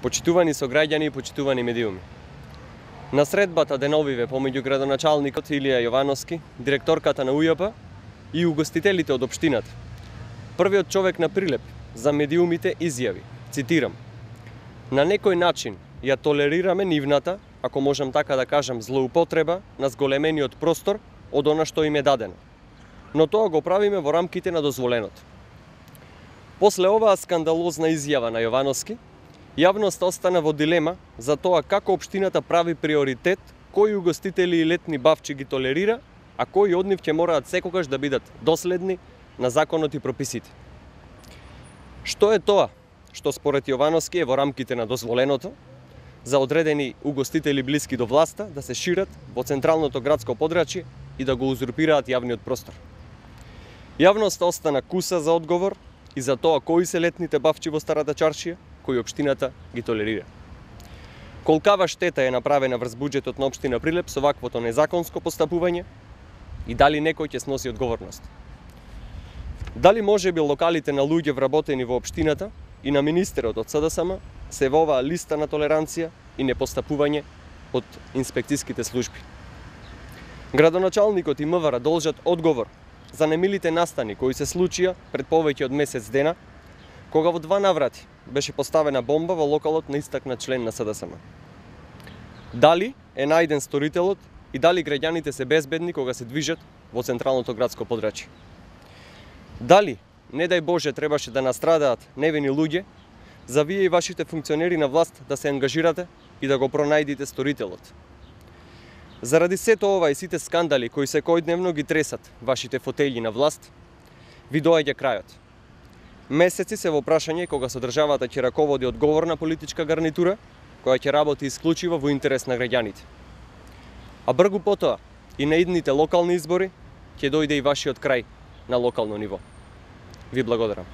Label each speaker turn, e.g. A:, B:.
A: Почитувани сограѓани и почитувани медиуми. На средбата деновиве помеѓу градоначалникот Илија Јовановски, директорката на УЈП и угостителите од општината, првиот човек на Прилеп за медиумите изјави, цитирам: "На некој начин ја толерираме нивната, ако можам така да кажам, злоупотреба на зголемениот простор од она што им е дадено. Но тоа го правиме во рамките на дозволеното." После оваа скандалозна изјава на Јовановски, јавноста остана во дилема за тоа како општината прави приоритет кои угостители и летни бавчи ги толерира, а кои од нив ќе мораат секогаш да бидат доследни на законот и прописите. Што е тоа што според Јовановски е во рамките на дозволеното за одредени угостители блиски до власта да се шират во централното градско подрачје и да го узурпираат јавниот простор? Јавноста остана куса за одговор и за тоа кои се летните бавчи во Старата чаршија кои општината ги толерира. Колкава штета е направена врз буџетот на општина Прилеп со ваквото незаконско постапување и дали некој ќе сноси одговорност? Дали можеби локалите на луѓе вработени во општината и на министерот од СДСМ се во оваа листа на толеранција и непостапување од инспекцијските служби? Градоначалникот и МВР должат одговор за немилите настани кои се случија пред повеќе од месец дена, кога во 2 наврати беше поставена бомба во локалот на истакнат член на СДСМ. Дали е најден сторителот и дали граѓаните се безбедни кога се движат во централното градско подрачје? Дали, не дај Боже, требаше да настрадаат невини луѓе, за вие и вашите функционери на власт да се ангажирате и да го пронајдите сторителот? Заради сето ова и сите скандали кои секојдневно ги тресат вашите фотељи на власт, ви доаѓа крајот. Месеци се во прашање кога со државата ќе раководи одговорна политичка гарнитура, која ќе работи исклучиво во интерес на граѓаните. А бргу потоа и на идните локални избори ќе дојде и вашиот крај на локално ниво. Ви благодарам.